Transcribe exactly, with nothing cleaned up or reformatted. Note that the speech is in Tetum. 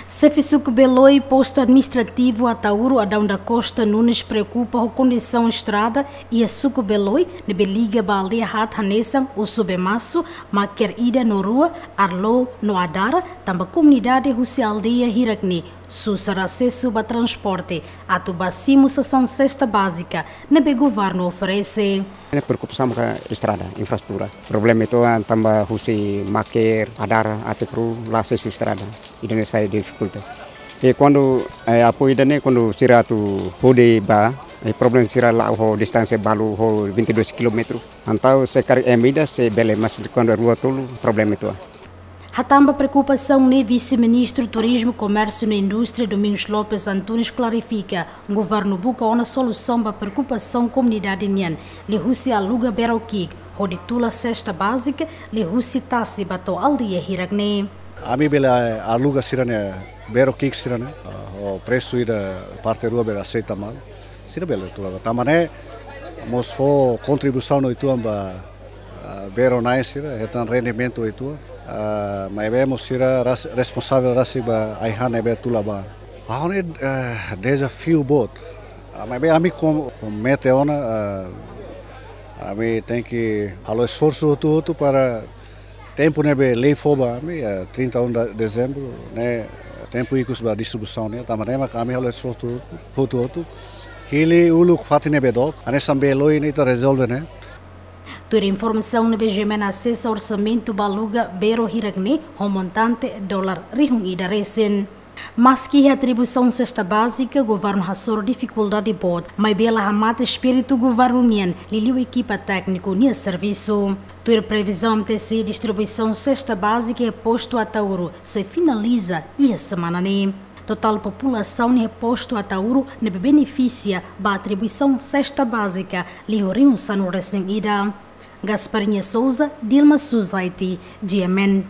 Xefe Suku Beloi, Postu Administrativu Ataúro, Adão da Costa Nunes, preokupa ho kondisaun estrada iha Suku Beloi ne'ebé liga ba aldeia haat hanesan Usu Bemasu, Maker ida no rua, Arlo no Adara, tanba komunidade husi aldeia hirak ne'e susar asesu ba transporte atu bá simu sasán sesta bázika ne'ebé governu oferese. Ne'e preokupasaun maka estrada, infraestrutura. Problema uitoan tanba husi Maker, Adara, até Peru, la asesu estrada. Ida-ne'e sai difikulta. I kuandu, eh, apoiu ida-ne'e, kuandu sira atu hodi bá, eh, problema sira la'o ho distánsia balu ho vinte e dois quilómetros. Entaun se karik ema ida sei bele, mas kuandu rua tolu, problema uitoan. Hatán ba preokupasaun ne'e, Vise-Ministru Turizmu, Komérsiu no Indústria, Domingos Lopes Antunes, klarifika, governu buka ona solusaun ba preokupasaun komunidade nian, liuhusi aluga bero ki'ik hodi tula sesta bázika liuhusi tasi ba to'o aldeia hirak ne'e. Ami bele aluga sira-nia bero ki'ik sira-ne'e, ah, ho presu ida parte rua bele aseita malu. Sira bele tula bá. Tanba ne'e mós fó kontribuisaun uitoan ba, ah, bero-na'in sira, hetan rendimentu uitoan. Ah, maibé mós sira ras-, responsavel rasik ba ai-han ne'ebé tula bá. Ha'u hanoin, eh, dezafiu boot. Ah, maibé ami kom-, komete ona, ah, ami tenke halo esforsu hotu-hotu para tempu ne'ebé lei fó ba ami, eh, trinta e um de dezembro, ne'e tempu ikus ba distribuisaun ne'e, tanba ne'e maka ami halo esforsu hotu-hotu. Hili uluk fatin ne'ebé dook, hanesan Beloi ne'e ita rezolve ne'e. Tuir informasaun ne'ebé GMN asesa, orsamentu ba aluga bero hirak ne'e ho montante dolar rihun ida resin. Maski iha atribuisaun sesta bázika, governu hasoru difikuldade boot, maibé la hamate espíritu governu nian, liuliu ekipa tékniku nia servisu. Tuir previzaun M T C, distribuisaun sesta bázika iha postu Ataúro sei finaliza iha semana ne'e. Totál populasaun iha postu Ataúro ne'ebé benefisia ba atribuisaun sesta bázika liu rihun sanulu resin ida. Gasparinha Souza, Dilma Suzaiti, GMN.